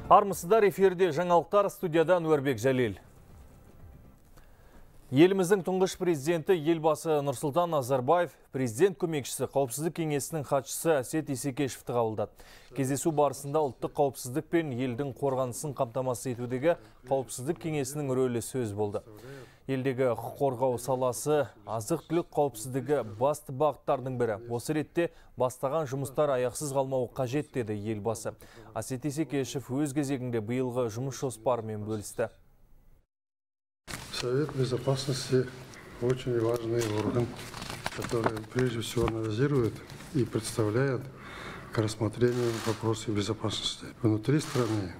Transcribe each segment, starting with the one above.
Армысыздар, эфирде жаңалықтар, студиядан Өрбек Жәлел. Еліміздің тұңғыш президенті елбасы Нұрсұлтан Назарбаев, президент көмекшісі қауіпсіздік кеңесінің хатшысы Әсет Исекешевті қабылдады. Кездесу барысында ұлттық қауіпсіздік пен елдің қорғанысын қамтамасыз етудегі қауіпсіздік кеңесінің рөлі сөз болды. Елдегі құқық қорғау саласы, азық-түлік қауіпсіздігі басты бағыттардың бірі. Осы ретте бастаған жұмыстар аяқсыз қалмауы қажет деді елбасы. Әсет Исекешев өз кезегінде биылғы жұмыс жоспарымен бөлісті. Совет Безопасности очень важный орган, который прежде всего анализирует и представляет к рассмотрению вопросы безопасности внутри страны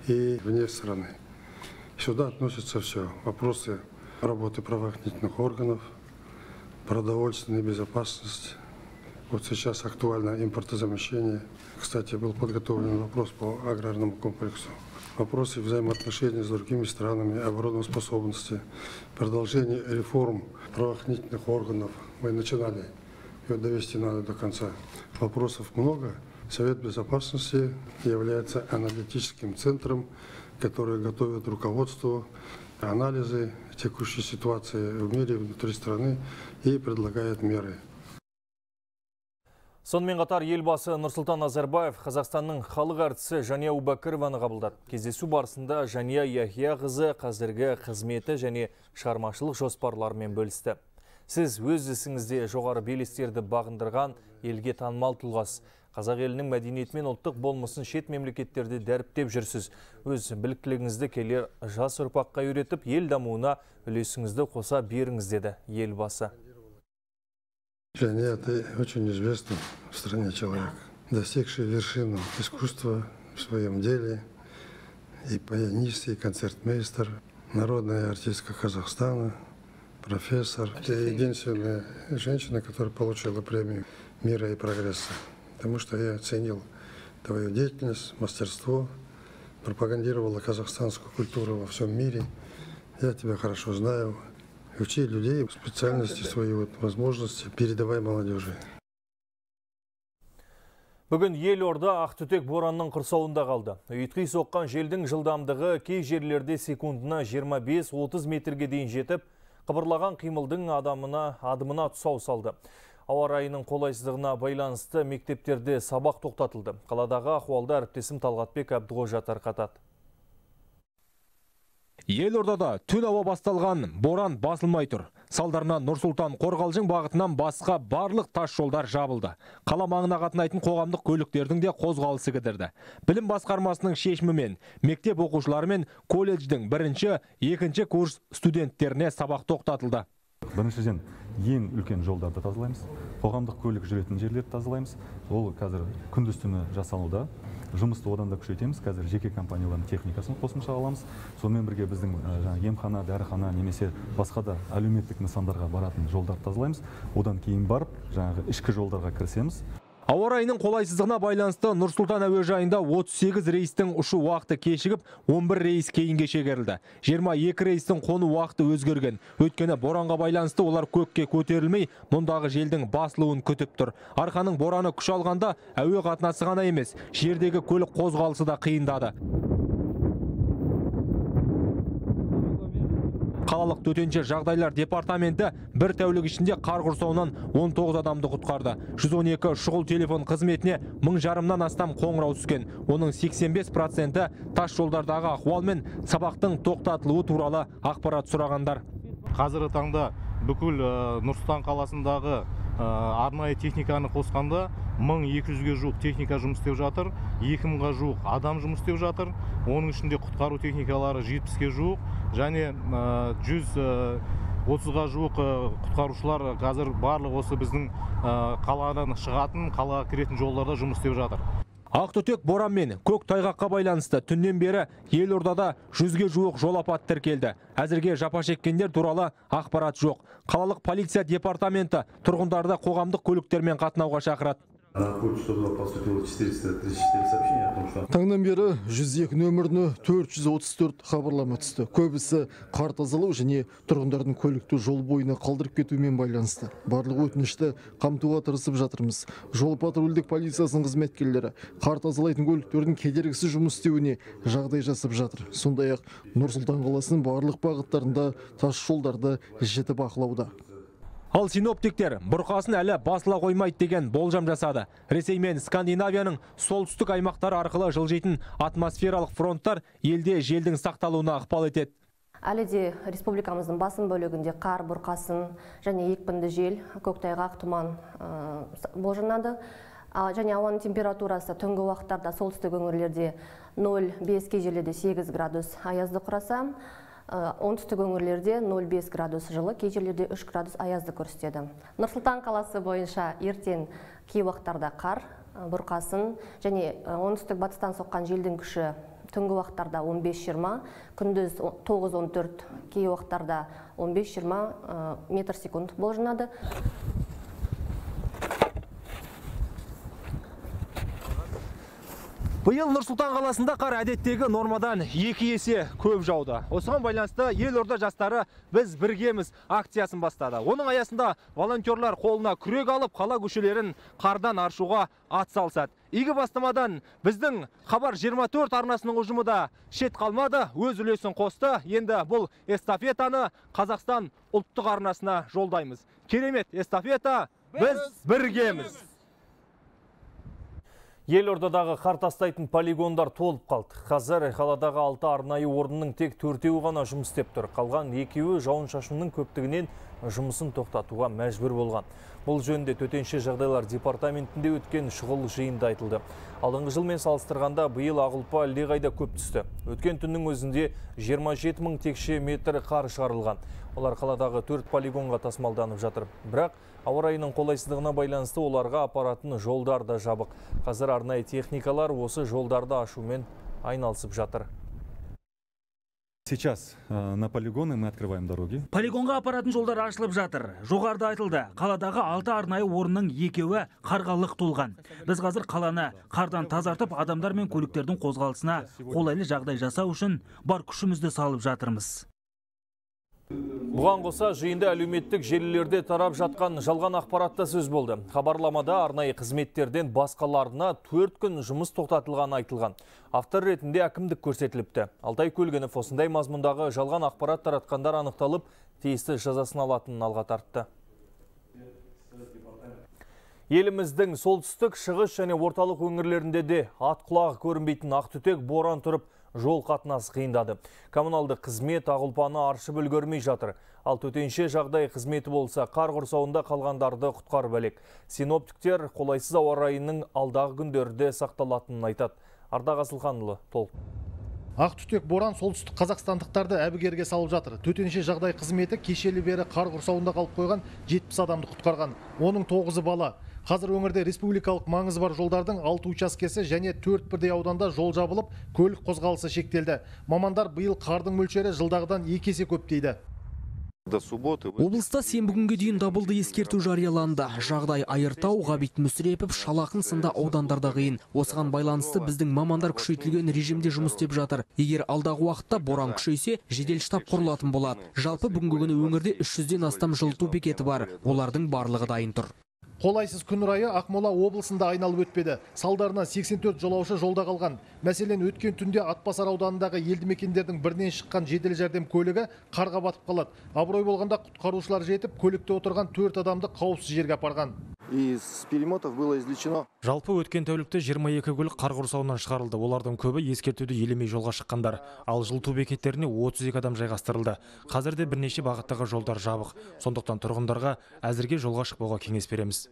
и вне страны. Сюда относятся все вопросы работы правоохранительных органов, продовольственной безопасности. Вот сейчас актуально импортозамещение. Кстати, был подготовлен вопрос по аграрному комплексу. Вопросы взаимоотношений с другими странами, обороноспособности, продолжение реформ правоохранительных органов. Мы начинали, ее довести надо до конца. Вопросов много. Совет Безопасности является аналитическим центром, который готовит руководству анализы текущей ситуации в мире, внутри страны и предлагает меры. Сонымен қатар елбасы Нұрсұлтан Назарбаев Қазақстанның халық әртісі Жания Убакірованы қабылдады. Кездесу барысында Жания Яхия қызы қазіргі қызметі және шығармашылық жоспарларымен бөлісті. Сіз өз ісіңізде жоғары белестерді бағындырған елге танымал тұлғасыз. Қазақ елінің мәдениеті мен ұлттық болмысын шет мемлекеттерде дәріптеп жүрсіз. Өз біліктілігіңізді келер жас ұрпаққа үйретіп, ел дамуына үлесіңізді қоса беріңіз деді елбасы. Жания, ты очень известный в стране человек, достигший вершину искусства в своем деле, и пианист, и концертмейстер, народная артистка Казахстана, профессор. Ты единственная женщина, которая получила премию мира и прогресса, потому что я оценил твою деятельность, мастерство, пропагандировала казахстанскую культуру во всем мире. Я тебя хорошо знаю. Учи людей, специальности, свои возможности, передавай молодежи. Бүгін елорда ақтүтек боранның құрсауында қалды. Ұйтқи соққан желдің жылдамдығы кей жерлерде секундына 25-30 метрге дейін жетіп, қыбырлаған қимылдың адымына тұсау салды. Ауа райының қолайсыздығына байланысты мектептерде сабақ тоқтатылды. Қаладағы ахуалда әріптесім Талғатбек Әбдіғожа тарқатады. Елордада түн ауа басталған боран басылмай тұр. Салдарынан Нұрсұлтан Қорғалжың бағытынан басқа барлық тас жолдар жабылды. Қала маңына қатынайтын қоғамдық көліктердің де қозғалысы кідірді. Білім басқармасының шешімімен мектеп оқушылары мен колледждің бірінші, екінші курс студенттеріне сабақ тоқтатылды. Біріншіден ең үлкен жолдарды тазалаймыз, қоғамдық көлік жүретін жерлерді тазалаймыз. Ол қазір күндіз-түні жасалуда. Жұмысты одан да күшейтеміз. Қазір жеке компаниялардың техникасын қосымша аламыз. Сонымен бірге біздің емхана, дәріхана немесе басқа да әлеуметтік нысандарға баратын жолдарды тазалаймыз. Одан кейін барып, ішкі жолдарға кірісеміз. Ауа райының қолайсыздығына байланысты Нұрсұлтан әуежайында 38 рейстің ұшу уақыты кешігіп, 11 рейс кейінге шегерілді. 22 рейстің қону уақыты өзгерген. Өйткені боранға байланысты олар көкке көтерілмей, мұндағы желдің басылуын күтіп тұр. Арқаның бораны күш алғанда әуе қатынасы ғана емес, жердегі көлік қозғалысы да қиындады. Қалалық төтенше жағдайлар департаменті бір тәулік ішінде қар құрсауынан 19 адамды құтқарды. 112 шұғыл телефон қызметіне 1000-жарымнан астам қоңырау түскен. Оның 85% тас жолдардағы ахуал мен сабақтың тоқтатылуы туралы ақпарат сұрағандар. Қазіргі таңда бүкіл Нұр-Сұлтан қаласындағы арнайы техниканы қосқанда 1200-ге жуық техника жұмыс істеп жатыр, 2000-ға жуық адам жұмыс істеп жатыр. Оның ішінде құтқару техникалары 70-ге жуық, және 130-ға жуық құтқарушылар қазір барлық осы біздің қаладан шығатын, қалаға кіретін жолдарда жұмыс істеп жатыр. Ақтүтек боран мен көк тайғаққа байланысты түннен бері елордада 100-ге жуық жол апаты тіркелді. Әзірге жапа шеккендер туралы ақпарат жоқ. Қалалық полиция департаменті тұрғындарды қоғамдық көліктермен қатынауға шақырады. На код 102 поступило 434 сообщения о том, что... Таңнан бері 102 нөміріне 434 хабарлама түсті. Көбісі қар тазалау және тұрғындардың көлікті жол бойына қалдырып кетумен байланысты. Барлық өтінішті қамтуға тырысып жатырмыз. Жол патрульдік полициясының қызметкерлері қар тазалайтын көліктердің кедергісіз жұмыс істеуіне жағдай жасап жатыр. Сондай-ақ Нұр-Сұлтан қаласының барлық бағыттарында тас жолдарды жіті бақылауда. Ал синоптиктер бұрқасын әлі басыла қоймайды деген болжам жасады. Ресей мен Скандинавияның солтүстік аймақтары арқылы жылжитын атмосфералық фронттар елде желдің сақталуына ықпал етеді. Әлі де республикамыздың басым бөлігінде қар, бұрқасын және екпінді жел, көктайғақ, тұман болжанады. Және ауаның температурасы түнгі уақыттарда солтүстік өңірлерде 0,5 кей жерлерде 8 градус аязды құраса, оңтүстік өңірлерде 0,5 градус жылы, кей жерлерде 3 градус аязды көрсетеді. Нұр-Сұлтан қаласы бойынша ертең кей уақыттарда қар, бұрқасын және оңтүстік батыстан соққан желдің күші түнгі уақыттарда 15-20, күндіз 9-14, кей уақыттарда 15-20 метр секунд болжанады. Биыл Нұр-Сұлтан қаласында қар әдеттегі нормадан 2 есе көп жауды. Осыған байланысты елорда жастары біз біргеміз акциясын бастады. Оның аясында волонтерлар қолына күрек алып, қала көшелерін қардан аршуға атсалысады. Игі бастамадан біздің Хабар 24 арнасының ұжымы да шет қалмады, өз үлесін қосты. Енді бұл эстафетаны Қазақстан ұлттық арнасына жолдаймыз. Керемет эстафета, біз біргеміз. Елордадағы қар тастайтын полигондар толып қалды. Қазір қаладағы 6 арнайы орынның тек 4-еуі ғана жұмыс істеп тұр. Қалған 2-еуі жауын-шашынның көптігінен жұмысын тоқтатуға мәжбүр болған. Бұл жөнінде төтенше жағдайлар департаментінде өткен шұғыл жиында айтылды. Алдыңғы жылмен салыстырғанда биыл ағылпа әлдеқайда көп түсті. Өткен түннің өзінде 27 мың текше метр қар шығарылған. Олар қаладағы 4 полигонға тасымалданып жатыр. Бірақ ауа райының қолайсыздығына байланысты оларға апаратын жолдар да жабық. Қазір арнайы техникалар осы жолдарды ашумен айналысып жатыр. Сейчас на полигоны мы открываем дороги. Полигонға апаратын жолдар ашылып жатыр. Жоғарыда айтылды, қаладағы 6 арнайы орынның 2-еуі қарға лық толған. Біз қазір қаланы қардан тазартып, адамдар мен көліктердің қозғалысына қолайлы жағдай жасау үшін бар күшімізді салып жатырмыз. Бұған қоса жиында әлеуметтік желілерде тарап жатқан жалған ақпаратта сөз болды. Хабарламада арнайы қызметтерден басқаларына 4 күн жұмыс тоқтатылғаны айтылған. Автор ретінде әкімдік көрсетіліпті. Алтай Көлгінов осындай мазмұндағы жалған ақпарат таратқандар анықталып, тиісті жазасын алатынын алға тартты. Еліміздің солтүстік, шығыс және орталық өңірлерінде де ат құлағы көрінбейтін ақтүтек боран тұрып, жол қатынасы қиындады. Коммуналды қызмет ағылпаны аршып үлгермей жатыр. Ал төтенше жағдай қызметі болса, қар құрсауында қалғандарды құтқарып әлек. Синоптиктер қолайсыз ауа райының алдағы күндерде сақталатынын айтады. Ардақ Асылханұлы толық. Ақтүтек боран солтүстік қазақстандықтарды әбігерге салып жатыр. Төтенше жағдай қызметі кешелі бері қар құрсауында қалып қойған 70 адамды құтқарған. Оның 9-ы бала. Қазір өңірде республикалық маңызы бар жолдардың 6 учаскесі және 4 бірдей ауданда жол жабылып, көлік қозғалысы шектелді. Мамандар биыл қардың мөлшері жылдағыдан 2 есе көп дейді. Облыста сенбі күнге дейін дабылды ескерту жарияланды. Жағдай Айыртау, Ғабит Мүсірепов, Шалақын сынды аудандарда қиын. Осыған байланысты біздің мамандар күшейтілген режимде жұмыс істеп жатыр. Егер алдағы уақытта боран күшейсе, жедел штаб құрылатын болады. Жалпы бүгінгі күні өңірде 300-ден астам жылыту бекеті бар. Олардың барлығы дайын тұр. Қолайсыз күн райы Ақмола облысында айналып өтпеді. Салдарынан 84 жолаушы жолда қалған. Мәселен, өткен түнде Атбасар ауданындағы елді мекендердің бірінен шыққан жедел жәрдем көлігі қарға батып қалады. Абырой болғанда құтқарушылар жетіп, көлікте отырған 4 адамды қауіпсіз жерге апарған. Из перемотов было извлечено. Жалпы өткен тәулікте 22 көлік қар құрсауынан шығарылды. Олардың көбі ескертуді елемей жолға шыққандар. Ал жылыту бекеттеріне 32 адам жайғастырылды. Қазірде бірнеше бағыттағы жолдар жабық. Сондықтан тұрғындарға әзірге жолға шықпауға кеңес береміз.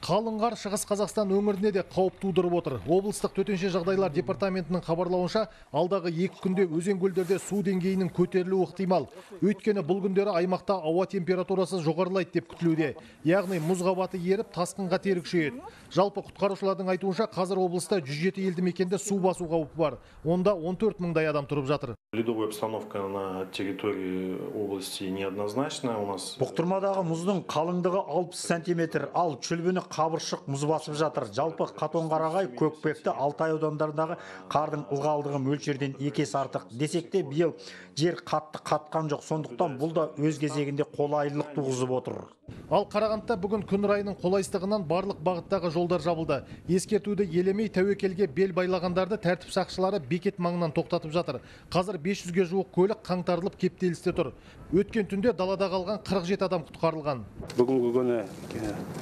Қалың қар Шығыс Қазақстан өңіріне де қауіп тудырып отыр. Облыстық төтенше жағдайлар департаментінің хабарлауынша, алдағы 2 күнде өзен-көлдерде су деңгейінің көтерілуі ықтимал. Өйткені бұл күндері аймақта ауа температурасы жоғарылайды деп күтілуде. Яғни мұз қабаты еріп, тасқынға тері күшейеді. Жалпы құтқарушылардың айтуынша, қазір облыста 107 елді мекенде су басу қаупі бар. Онда 14 мыңдай адам тұрып жатыр. Ледовая обстановка на территории области неоднозначная. У нас Бұқтырмадағы мұздың қалыңдығы 60 сантиметр, ал чүлбіні қабыршық мұз басып жатыр. Жалпы Қатонқарағай, Көкпекті, Алтай аудандарындағы қардың ылғалдығы мөлшерден 2 есе артық. Десек те биыл жер қатты қатқан жоқ. Сондықтан бұл да өз кезегінде қолайлылық туғызып отыр. Ал Қарағандыда бүгін күн райының қолайсыздығынан барлық бағыттағы жолдар жабылды. Ескертуді елемей тәуекелге бел байлағандарды тәртіп сақшылары бекет маңынан тоқтатып жатыр. Қазір 500-ге жуық көлік қаңтарылып кептелісте тұр. Өткен түнде далада қалған 47 адам құтқарылған. Бүгінгі күні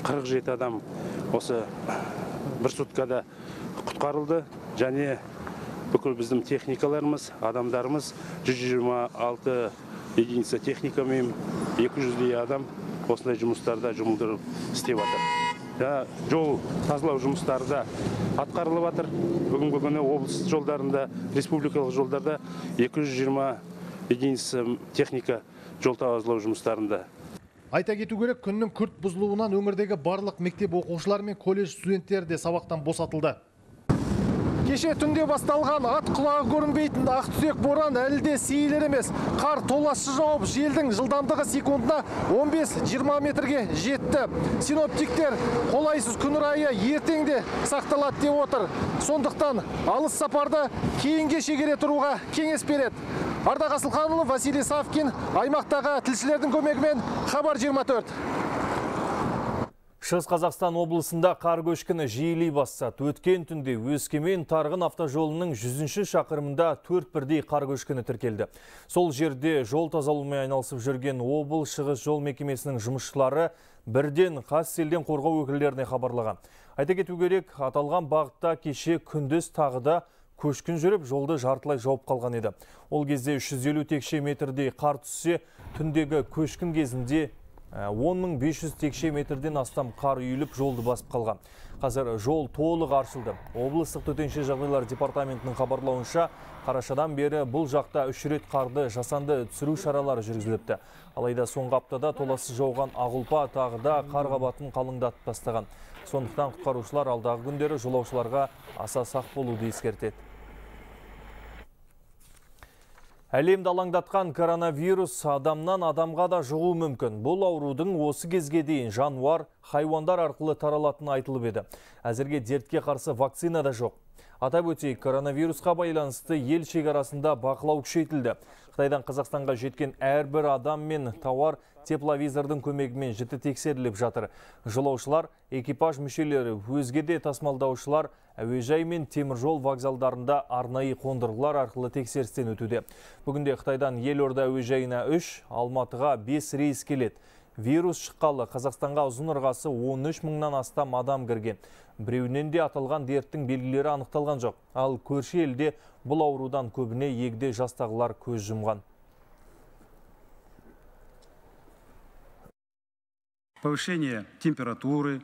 47 адам осы бір суткада құтқарылды. Және бүкіл біздің техникаларымыз, адамдарымыз 126 единица техникамен 200 адам осындай жұмыстарда жұмылдырып істеп жатыр. Жол тазалау жұмыстары да атқарылып жатыр. Бүгінгі күні облыс жолдарында, республикалық жолдарда 220 единица техника жол тазалау жұмыстарында. Айта кету керек, күннің күрт бұзылуынан өңірдегі барлық мектеп оқушылары мен колледж студенттері де сабақтан босатылды. Кеше түнде басталған ат құлағы көрінбейтін ақ түсек боран әлі де сейілер емес. Қар толассыз жауып, желдің жылдамдығы секундына 15-20 метрге жетті. Синоптиктер қолайсыз күн райы ертеңде сақталады деп отыр. Сондықтан алыс сапарды кейінге шегере тұруға кеңес береді. Ардақ Асылханұлы, Василий Савкин, аймақтағы тілшілердің көмегімен Хабар 24. Шығыс Қазақстан облысында қар көшкіні жиілей бастады. Өткен түнде Өскемен Тарғын автожолының 100-ші шақырымында 4 бірдей қар көшкіні тіркелді. Сол жерде жол тазалаумен айналысып жүрген облыс шығыс жол мекемесінің жұмысшылары бірден қас селден қорғау өкілдеріне хабарлаған. Айта кету керек, аталған бағытта кеше күндіз тағыда көшкін жүріп, жолды жартылай жауып қалған еді. Ол кезде 350 текше метрдей қар түссе, түндегі көшкін кезінде 10.500 текше метрден астам қар үйіліп жолды басып қалған. Қазір жол толық аршылды. Облыстық төтенше жағдайлар департаментінің хабарлауынша, қарашадан бері бұл жақта 3 рет қарды жасанды түсіру шаралары жүргізіліпті. Алайда соңғы аптада толассыз жауған Ағылпа тағы да қар қабатын қалыңдатып тастаған. Сондықтан құтқарушылар алдағы күндері жолаушыларға аса сақ болуды ескертеді. Әлемді алаңдатқан коронавирус адамнан адамға да жұғуы мүмкін. Бұл аурудың осы кезге дейін жануар, хайуандар арқылы таралатыны айтылып еді. Әзірге дертке қарсы вакцина да жоқ. Атап өтейік, коронавирусқа байланысты ел шекарасында бақылау күшейтілді. Қытайдан Қазақстанға жеткен әрбір адам мен тауар тепловизордың көмегімен жіті тексеріліп жатыр. Жолаушылар, экипаж мүшелері, өзге де тасымалдаушылар әуежай мен теміржол вокзалдарында арнайы қондырғылар арқылы тексерістен өтуде. Бүгінде Қытайдан елорда әуежайына 3, Алматыға 5 рейс келеді. Вирус шыққалы Қазақстанға ұзын ырғасы 13 мыңнан астам адам кірген. Біреуінен де аталған дерттің белгілері анықталған жоқ. Ал көрші елде бұл аурудан көбіне егде жастағылар көз жұмған. Повышение температуры,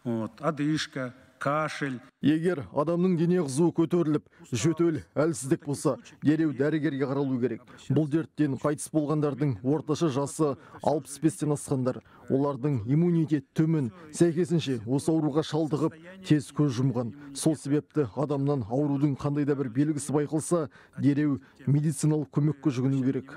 одышка, кашель. Егер адамның дене қызуы көтеріліп, жөтел, әлсіздік болса, дереу дәрігерге қаралу керек. Бұл дерттен қайтыс болғандардың орташа жасы 65-тен асқандар. Олардың иммунитет төмен, сәйкесінше осы ауруға шалдығып, тез көз жұмған. Сол себепті адамнан аурудың қандай да бір белгісі байқалса, дереу медициналық көмекке жүгіну керек.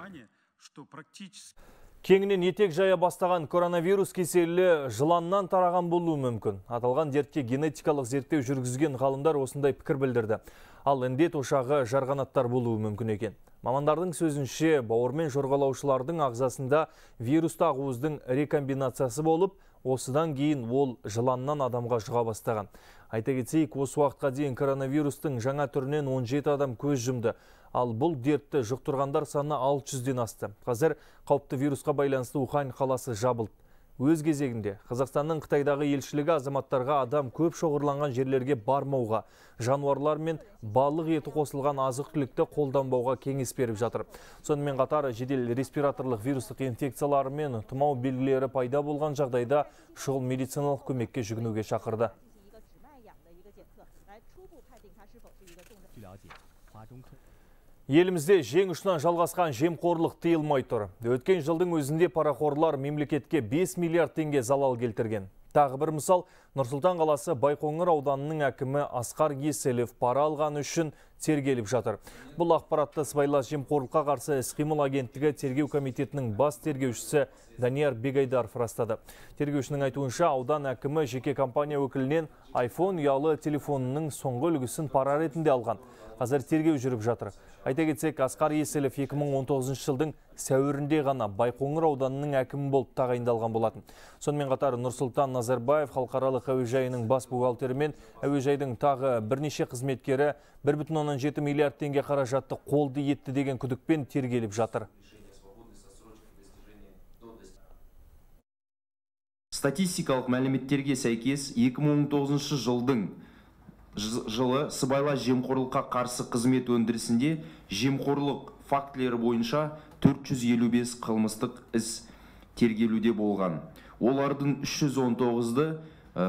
Кеңінен етек жая бастаған коронавирус кеселі жыланнан тараған болуы мүмкін. Аталған дертке генетикалық зерттеу жүргізген ғалымдар осындай пікір білдірді. Ал індет ошағы жарғанаттар болуы мүмкін екен. Мамандардың сөзінше, бауырмен жорғалаушылардың ағзасында вирусты ағуыздың рекомбинациясы болып, осыдан кейін ол жыланнан адамға жұға бастаған. Айта кетейік, осы уақытқа дейін коронавирустың жаңа түрінен 17 адам көз жұмды. Ал бұл дертті жұқтырғандар саны 600-ден асты. Қазір қауіпті вирусқа байланысты Ухань қаласы жабылды. Өз кезегінде Қазақстанның Қытайдағы елшілігі азаматтарға адам көп шоғырланған жерлерге бармауға, жануарлар мен балық еті қосылған азық-түлікті қолданбауға кеңес беріп жатыр. Сонымен қатар жедел респираторлық вирустық инфекциялары мен тұмау белгілері пайда болған жағдайда шұғыл медициналық көмекке жүгінуге шақырды. Елімізде жең ұшынан жалғасқан жемқорлық тыйылмай тұр. Өткен жылдың өзінде парақорлар мемлекетке 5 миллиард теңге залал келтірген. Тағы бір мысал, Нұрсұлтан қаласы Байқоңыр ауданының әкімі Асқар Еселев пара алғаны үшін тергеліп жатыр. Бұл ақпаратты сыбайлас жемқорлыққа қарсы іс-қимыл агенттігі тергеу комитетінің бас тергеушісі Данияр Бегайдаров растады. Тергеушінің айтуынша, аудан әкімі жеке компания өкілінен iPhone ұялы телефонының соңғы үлгісін пара ретінде алған. Қазір тергеу жүріп жатыр. Айта кетсек, Асқар Еселев 2019 жылдың сәуірінде ғана Байқоңыр ауданының әкімі болып тағайындалған болатын. Сонымен қатар Нұрсұлтан Назарбаев халықаралық әуежайының бас бухгалтері мен әуежайдың тағы бірнеше қызметкері 1,7 миллиард теңге қаражатты қолды етті деген күдікпен тергеліп жатыр. Статистикалық мәліметтерге сәйкес 2019 жылы сыбайлас жемқорлыққа қарсы қызмет өндірісінде жемқорлық фактілері бойынша 455 қылмыстық іс тергелуде болған. Олардың 319-ды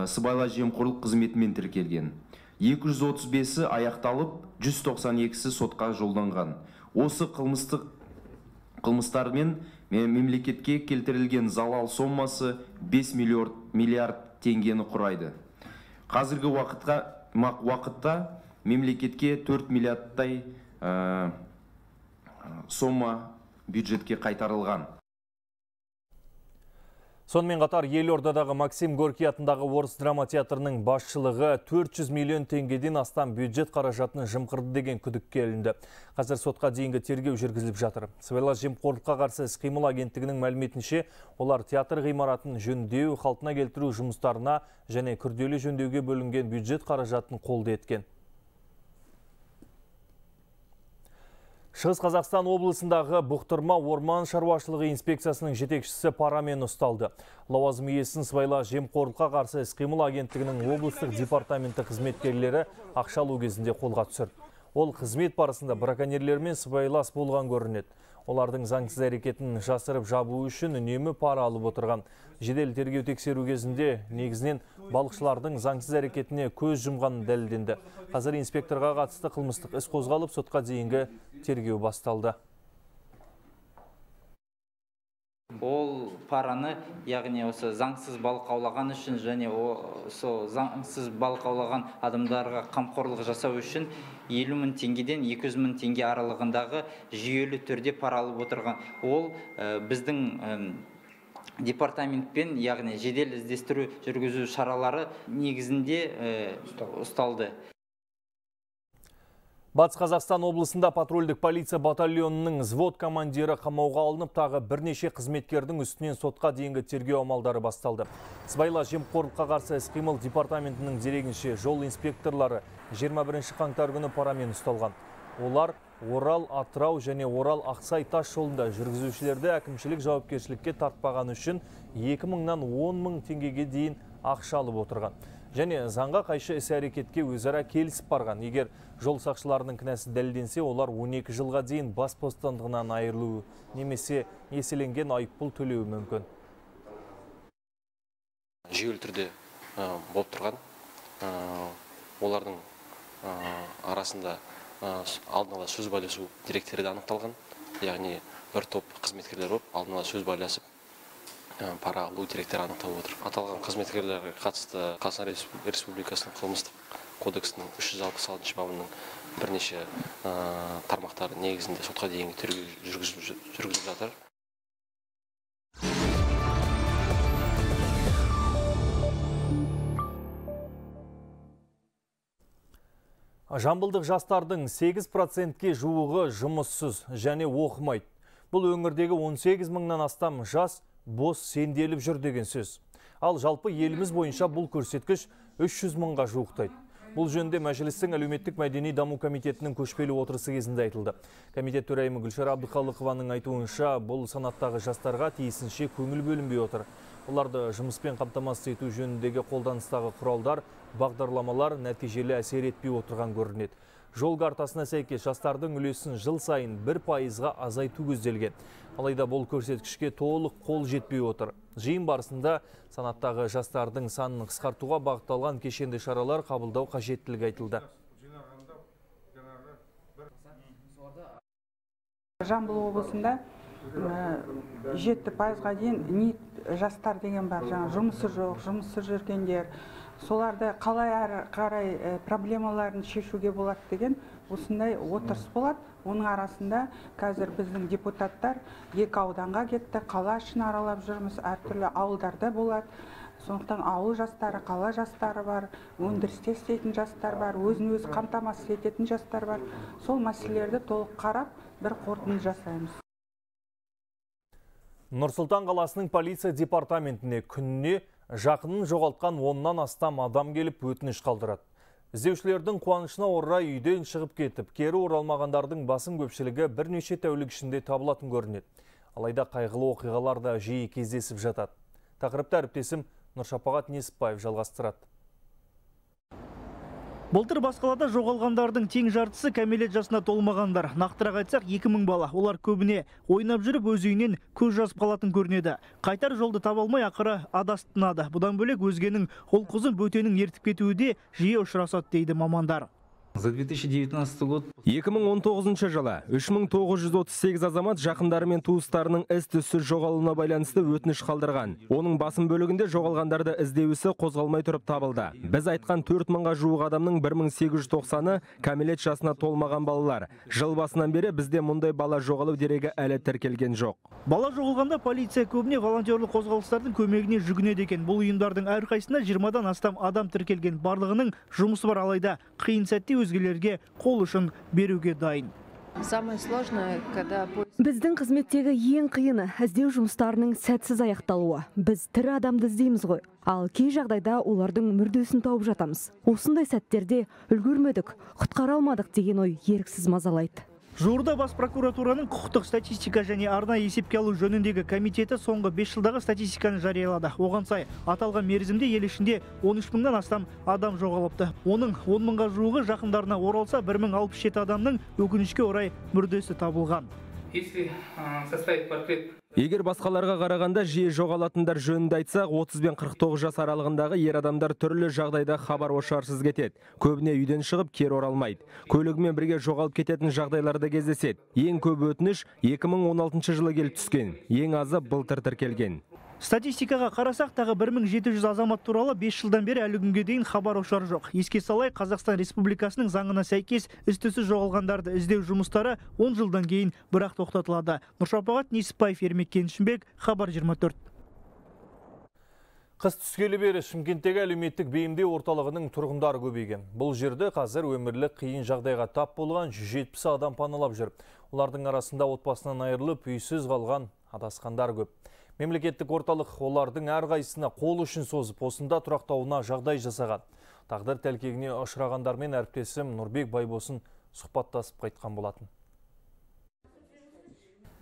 сыбайлас жемқорлық қызметімен тіркелген. 235-і аяқталып, 192-сі сотқа жолданған. Осы қылмыстармен мемлекетке келтірілген залал сомасы 5 миллиард теңгені құрайды. Қазіргі уақытта мемлекетке 4 миллиардтай сома бюджетке қайтарылған. Сонымен қатар Елордадағы Максим Горький атындағы орыс драма театрының басшылығы 400 миллион теңгеден астам бюджет қаражатын жымқырды деген күдікке ілінді. Қазір сотқа дейінгі тергеу жүргізіліп жатыр. Сыбайлас жемқорлыққа қарсы іс-қимыл агенттігінің мәліметінше, олар театр ғимаратын жөндеу, қалпына келтіру жұмыстарына және күрделі жөндеуге бөлінген бюджет қаражатын қолды еткен. Шығыс Қазақстан облысындағы Бұқтырма орман шаруашылығы инспекциясының жетекшісі парамен ұсталды. Лауазым иесін сыбайлас жемқорлыққа қарсы іс-қимыл агенттігінің облыстық департаменті қызметкерлері ақша алу кезінде қолға түсірді. Ол қызмет барысында браконьерлермен сыбайлас болған көрінеді. Олардың заңсыз әрекетін жасырып жабу үшін үнемі пара алып отырған. Жедел тергеу тексеру кезінде негізінен балықшылардың заңсыз әрекетіне көз жұмғаны дәлелденді. Қазір инспекторға қатысты қылмыстық іс қозғалып, сотқа дейінгі тергеу басталды. Ол параны, яғни осы заңсыз балық аулаған үшін және осы заңсыз балық аулаған адамдарға қамқорлық жасау үшін 50 мың теңгеден 200 мың теңге аралығындағы жүйелі түрде пара алып отырған. Ол біздің департаментпен, яғни жедел іздестіру жүргізу шаралары негізінде ұсталды. Батыс Қазақстан облысында патрульдік полиция батальонының взвод командирі қамауға алынып, тағы бірнеше қызметкердің үстінен сотқа дейінгі тергеу амалдары басталды. Сыбайлас жемқорлыққа қарсы іс-қимыл департаментінің дерегінше жол инспекторлары 21 қаңтар күні парамен ұсталған. Олар Орал, Атырау және Орал Ақсай тас жолында жүргізушілерді әкімшілік жауапкершілікке тартпаған үшін 2 мыңнан 10 мың теңгеге дейін ақша алып отырған. Және заңға қайшы іс-әрекетке өзара келісіп барған. Егер жол сақшыларының кінәсі дәлелденсе, олар 12 жылға дейін бас бостандығынан айырылуы немесе еселенген айыппұл төлеуі мүмкін. Жүйелі түрде болып тұрған. Олардың арасында алдын ала сөз байласу деректері де анықталған. Яғни бір топ қызметкерлер болып, алдын ала сөз байласып пара алу деректері анықталып отыр. Аталған қызметкерлерге қатысты Қазақстан Республикасының қылмыстық кодексінің 366 бабының бірнеше тармақтары негізінде сотқа дейінгі тергеу жүргізіліп жатыр. Жамбылдық жастардың 8%-ке жуығы жұмыссыз және оқымайды. Бұл өңірдегі 18 мыңнан астам жас бос сенделіп жүр деген сөз. Ал жалпы еліміз бойынша бұл көрсеткіш 300 мыңға жуықтайды. Бұл жөнінде Мәжілістің әлеуметтік мәдени даму комитетінің көшпелі отырысы кезінде айтылды. Комитет төрайымы Гүлшара Абдықалықованың айтуынша, бұл санаттағы жастарға тиісінше көңіл бөлінбей отыр. Оларды жұмыспен қамтамасыз ету жөніндегі қолданыстағы құралдар, бағдарламалар нәтижелі әсер етпей отырған көрінеді. Жол картасына сәйкес жастардың үлесін жыл сайын 1%-ға азайту көзделген. Алайда бұл көрсеткішке толық қол жетпей отыр. Жиын барысында санаттағы жастардың санын қысқартуға бағытталған кешенді шаралар қабылдау қажеттілігі айтылды. Жамбыл облысында 7%-ға дейін ниет жастар деген бар. Жұмысы жоқ, жұмыссыз жүргендер, соларды қалай әрі қарай проблемаларын шешуге болады деген осындай отырыс болады. Оның арасында қазір біздің депутаттар 2 ауданға кетті, қала ішін аралап жүрміз, әртүрлі ауылдарда болады. Сондықтан ауыл жастары, қала жастары бар, өндірісте істейтін жастар бар, өзін-өзі қамтамасыз ететін жастар бар. Сол мәселелерді толық қарап, бір қорытынды жасаймыз. Нұр-Сұлтан қаласының полиция департаментіне күніне жақынын жоғалтқан 10-нан астам адам келіп өтініш қалдырады. Іздеушілердің қуанышына орай үйден шығып кетіп, кері оралмағандардың басым көпшілігі бірнеше тәулік ішінде табылатын көрінеді. Алайда қайғылы оқиғалар да жиі кездесіп жатады. Тақырыпты әріптесім Нұршапағат Несіпбаев жалғастырады. Былтыр бас қалада жоғалғандардың тең жартысы кәмелет жасына толмағандар. Нақтырақ айтсақ 2000 бала. Олар көбіне ойнап жүріп өз үйінен көз жазып қалатын көрінеді. Қайтар жолды таба алмай ақыры адасып тынады. Бұдан бөлек өзгенің ұл-қызын бөтенің ертіп кетуі де жиі ұшырасады дейді мамандар. За 2019 год 2019 жылы 3938 азамат жақындары мен туыстарының із-түзсіз жоғалуына байланысты өтініш қалдырған. Оның басым бөлігінде жоғалғандарды іздеу ісі қозғалмай тұрып табылды. Біз айтқан 4000-ға жуық адамның 1890-ы кәмелет жасына толмаған балалар. Жыл басынан бері бізде мұндай бала жоғалу дерегі әлі тіркелген жоқ. Бала жоғалғанда полиция көбіне волонтерлік қозғалыстардың көмегіне жүгінеді екен. Бұл ұйымдардың әрқайсысында 20-дан астам адам тіркелген. Барлығының жұмысы бар, алайда қиын сәтте өзгелерге қол ұшын беруге дайын. Біздің қызметтегі ең қиыны іздеу жұмыстарының сәтсіз аяқталуы. Біз тірі адамды іздейміз ғой. Ал кей жағдайда олардың мүрдесін тауып жатамыз. Осындай сәттерде үлгермедік, құтқара алмадық деген ой еріксіз мазалайды. Жуырда бас прокуратураның құқықтық статистика және арнайы есепке алу жөніндегі комитеті соңғы 5 жылдағы статистиканы жариялады. Оған сай, аталған мерзімде ел ішінде 13 мыңнан астам адам жоғалыпты. Оның 10 мыңға жуығы жақындарына оралса, 1067 адамның өкінішке орай мүрдесі табылған. Егер басқаларға қарағанда жиі жоғалатындар жөнінде айтсақ, 30 бен 49 жас аралығындағы ер адамдар түрлі жағдайда хабар ошарсыз кетеді. Көбіне үйден шығып кері оралмайды. Көлігімен бірге жоғалып кететін жағдайларда кездеседі. Ең көп өтініш 2016 жылы келіп түскен. Ең азы былтыр тіркелген. Статистикаға қарасақ, тағы 1700 азамат туралы 5 жылдан бері әлі күнге дейін хабар ошар жоқ. Еске салай, Қазақстан Республикасының заңына сәйкес із-түзсіз жоғалғандарды іздеу жұмыстары 10 жылдан кейін бірақ тоқтатылады. Нұршапағат Несіпбаев, Ермек Кеншімбек, Хабар 24. Қыс түскелі бері Шымкенттегі әлеуметтік бейімдеу орталығының тұрғындары көбейген. Бұл жерде қазір өмірлік қиын жағдайға тап болған 170 адам паналап жүр. Олардың арасында отбасынан айырылып, үйсіз қалған адасқандар көп. Мемлекеттік орталық олардың әрқайсысына қол ұшын созып, осында тұрақтауына жағдай жасаған. Тағдыр тәлкегіне ұшырағандармен әріптесім Нұрбек Байбосын сұхбаттасып қайтқан болатын.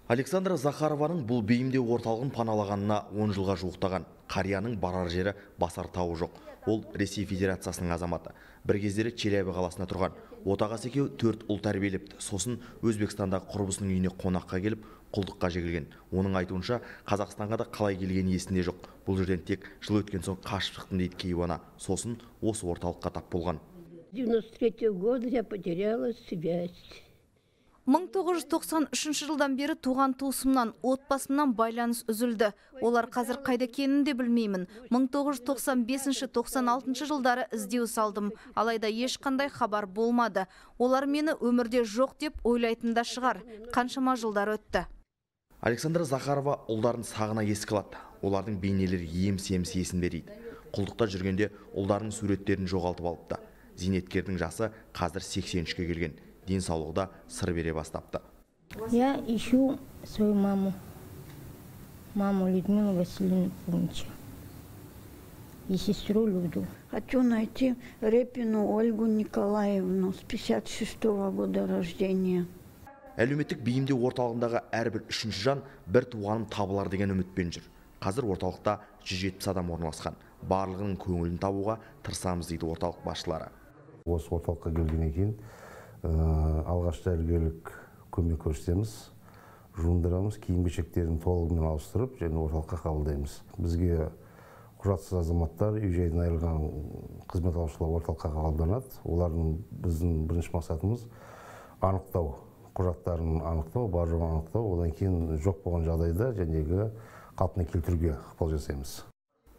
Александра Захарованың бұл бейімдеу орталығын паналағанына 10 жылға жуықтаған. Қарияның барар жері басар тауы жоқ. Ол Ресей Федерациясының азаматы. Бір кездері Челябі қаласына тұрған. Отағасы екеуі 4 ұл тәрбиелепті. Сосын Өзбекстандағы құрбысының үйіне қонаққа келіп, құлдыққа жегілген. Оның айтуынша, Қазақстанға да қалай келгені есінде жоқ. Бұл жерден тек жыл өткен соң қашып шықтым дейді кейуана. Сосын осы орталыққа тап болған. 93 года я потеряла связь. 1993 жылдан бері туған туысымнан, отбасымнан байланыс үзілді. Олар қазір қайда екенін де білмеймін. 1995-96 жылдары іздеу салдым. Алайда ешқандай хабар болмады. Олар мені өмірде жоқ деп ойлайтында шығар. Қаншама жылдар өтті. Александра Захарова ұлдарын сағына еске алады. Олардың бейнелері еміс-еміс есінде дейді. Құлдықта жүргенде ұлдарының суреттерін жоғалтып алыпты. Зейнеткердің жасы қазір 83-ке келген. Денсаулығында сыр бере бастапты. Я ищу свою маму Людмилу Васильевну Пунча и сестру Люду. Хочу найти Репину Ольгу Николаевну с 56-го года рождения. Әлеуметтік бейімдеу орталығындағы әрбір үшінші жан бір туғаным табылар деген үмітпен жүр. Қазір орталықта 170 адам орналасқан. Барлығының көңілін табуға тырысамыз дейді орталық басшылары. Осы орталыққа келгеннен кейін алғаш дәрігерлік көмек көрсетеміз, жуындырамыз, киім-кешектерін толығымен ауыстырып, және орталыққа қабылдаймыз. Бізге құжатсыз азаматтар, үй-жайдан айырылған қызмет алушылар орталыққа қабылданады. Олардың біздің бірінші мақсатымыз анықтау, құжаттарын анықтау, бар-жоғын анықтау, одан кейін жоқ болған жағдайда жәнегі қалпына келтіруге ықпал жасаймыз.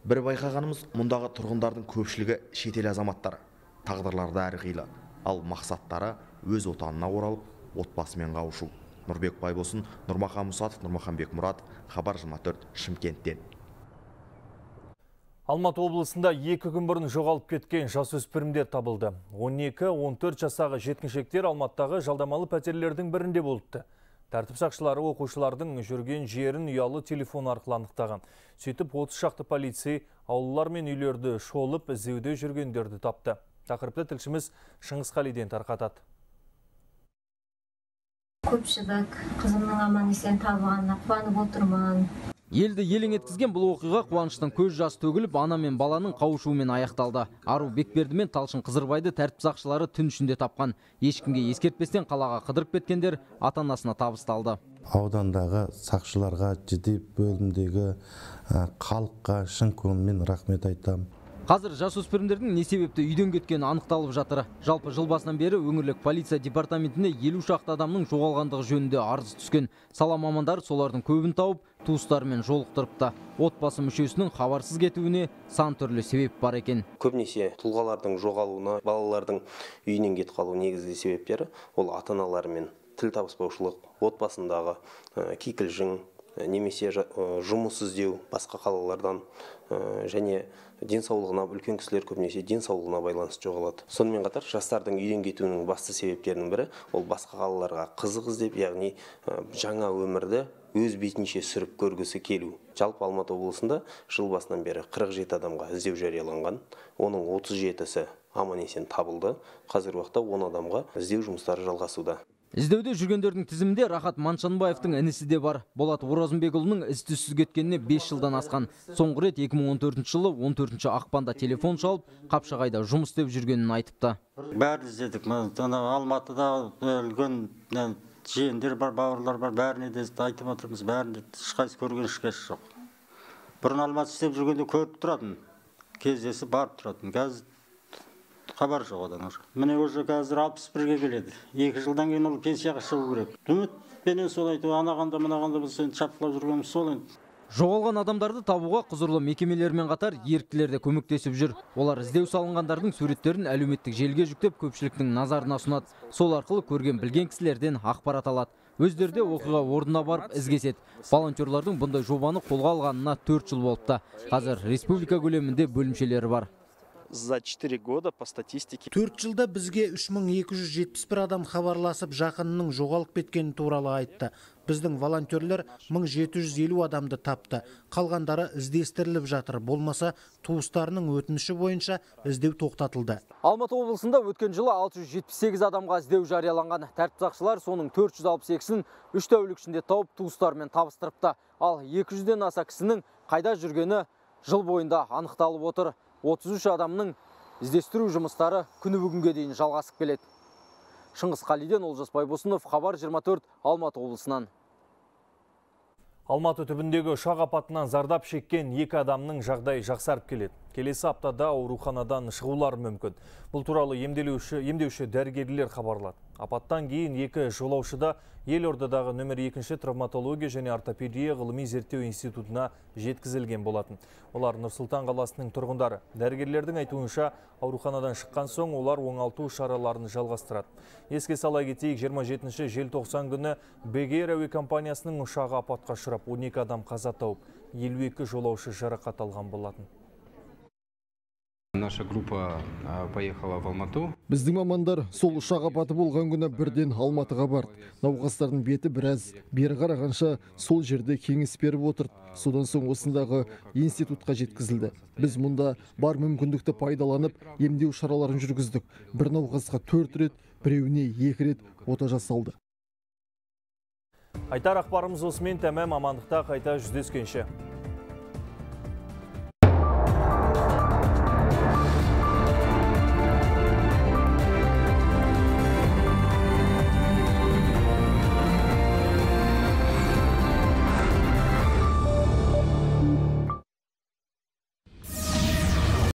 Бір байқағанымыз, мұндағы тұрғындардың көпшілігі шетел азаматтары. Тағдырлары әрқилы, ал мақсаттары өз отанына оралып, отбасымен қауышу. Нұрбек Байбосын, Нұрмахан Мұсатов, Нұрмаханбек Мұрат, Хабар 24, Шымкенттен. Алматы облысында 2 күн бұрын жоғалып кеткен жасөспірімдер табылды. 12-14 жасағы жеткіншектер Алматыдағы жалдамалы пәтерлердің бірінде болыпты. Тәртіп сақшылары оқушылардың жүрген жерін ұялы телефон арқылы анықтаған. Сөйтіп 30 шақты полицей аулалар мен үйлерді шолып іздеуде жүргендерді тапты. Тақырыпты тілшіміз Шыңғыс Қалиден тарқатады. Көпшілік қызымның аман есен табылғанына қуанып отырмын. Елді елең еткізген бұл оқиға қуаныштан көз жас төгіліп, ана мен баланың қауышуымен аяқталды. Ару Бекберді мен Талшын Қызырбайды тәртіп сақшылары түн ішінде тапқан. Ешкімге ескертпестен қалаға қыдырып кеткендер ата-анасына табысталды. Аудандағы сақшыларға, жедел бөлімдегі халыққа шын көңілмен рахмет айтамын. Қазір жасөспірімдердің не себепті үйден кеткені анықталып жатыр. Жалпы жыл басынан бері өңірлік полиция департаментіне 50 шақты адамның жоғалғандығы жөнінде арыз түскен. Сала мамандары солардың көбін тауып, туыстарымен жолықтырыпты. Отбасы мүшесінің хабарсыз кетуіне сан түрлі себеп бар екен. Көбінесе тұлғалардың жоғалуына, балалардың үйінен кетіп қалу негізгі себептері ол ата-аналарымен тіл табыспаушылық, отбасындағы кикілжің, немесе жұмыс іздеу басқа қалалардан және денсаулығына, үлкен кісілер көбінесе денсаулығына байланысты жоғалады. Сонымен қатар жастардың үйден кетуінің басты себептерінің бірі ол басқа қалаларға қызық іздеп, яғни жаңа өмірді өз бетінше сүріп көргісі келу. Жалпы Алматы облысында жыл басынан бері 47 адамға іздеу жарияланған, оның 37-сі аман есен табылды. Қазіргі уақытта 10 адамға іздеу жұмыстары жалғасуда. Іздеуде жүргендердің тізімінде Рахат Маншанбаевтың інісі де бар. Болат Оразымбекұлының із-түзсіз кеткеніне 5 жылдан асқан. Соңғы рет 2014 жылы 14 ақпанда телефон шалып, Қапшағайда жұмыс істеп жүргенін айтыпты. Бәрін іздедік. Алматыда өлген жиендер бар, бауырлар бар, бәріне де айтып отырмыз. Бәрінде ешқайсы көрген ешкесі жоқ. Бұрын Алматы істеп жүргенде көріп тұратын, кездесіп барып тұратын. Қазір хабар жоқ одан. Міне уже қазір 61-ге келеді. 2 жылдан кейін ол пенсияға шығу керек. Үмітпенен сол айту, анағанда мынағанда біз шапқылап жүргеніміз сол енді. Жоғалған адамдарды табуға құзырлы мекемелермен қатар еріктілер де көмектесіп жүр. Олар іздеу салынғандардың суреттерін әлеуметтік желіге жүктеп көпшіліктің назарына ұсынады. Сол арқылы көрген білген кісілерден ақпарат алады. Өздері де оқиға орнына барып ізгеседі. Волонтерлардың бұндай жобаны қолға алғанына 4 жыл болыпты. Қазір республика көлемінде бөлімшелері бар. За 4 года по статистике 4 жылда бізге 3271 адам хабарласып жақынының жоғалып кеткені туралы айтты. Біздің волонтерлер 1750 адамды тапты. Қалғандары іздестіріліп жатыр. Болмаса туыстарының өтініші бойынша іздеу тоқтатылды. Алматы облысында өткен жылы 678 адамға іздеу жарияланған. Тәртіп сақшылар соның 462-сін 3 тәулік ішінде тауып туыстарымен табыстырыпты. Ал 200-ден аса кісінің қайда жүргені жыл бойында анықталып отыр. 33 адамның іздестіру жұмыстары күні бүгінге дейін жалғасып келеді. Шыңғыс Қалиден, Олжас Байбосынов, Хабар 24, Алматы облысынан. Алматы түбіндегі ұшақ апатынан зардап шеккен 2 адамның жағдайы жақсарып келеді. Келесі аптада ауруханадан шығулары мүмкін. Бұл туралы емдеуші дәрігерлер хабарлады. Апаттан кейін 2 жолаушыда Елордадағы нөмір 2 травматология және ортопедия ғылыми зерттеу институтына жеткізілген болатын. Олар Нұр-Сұлтан қаласының тұрғындары. Дәрігерлердің айтуынша, ауруханадан шыққан соң олар оңалту шараларын жалғастырады. Еске сала кетейік, 27 желтоқсан күні Бек-эйр әуе компаниясының ұшағы апатқа ұшырап, 12 адам қаза тауып, 52 жолаушы жарақат алған болатын. Наша группа поехала в Алмату. Біздің мамандар сол ұшақ апаты болған күні бірден Алматыға барды. Науқастардың беті біраз бері қарағанша сол жерде кеңес беріп отырды. Содан соң осындағы институтқа жеткізілді. Біз мұнда бар мүмкіндікті пайдаланып, емдеу шараларын жүргіздік. Бір науқасқа 4 рет, біреуіне 2 рет ота жасалды. Айтар ақпарымыз осымен тәмам, амандықта қайта жүздескенше.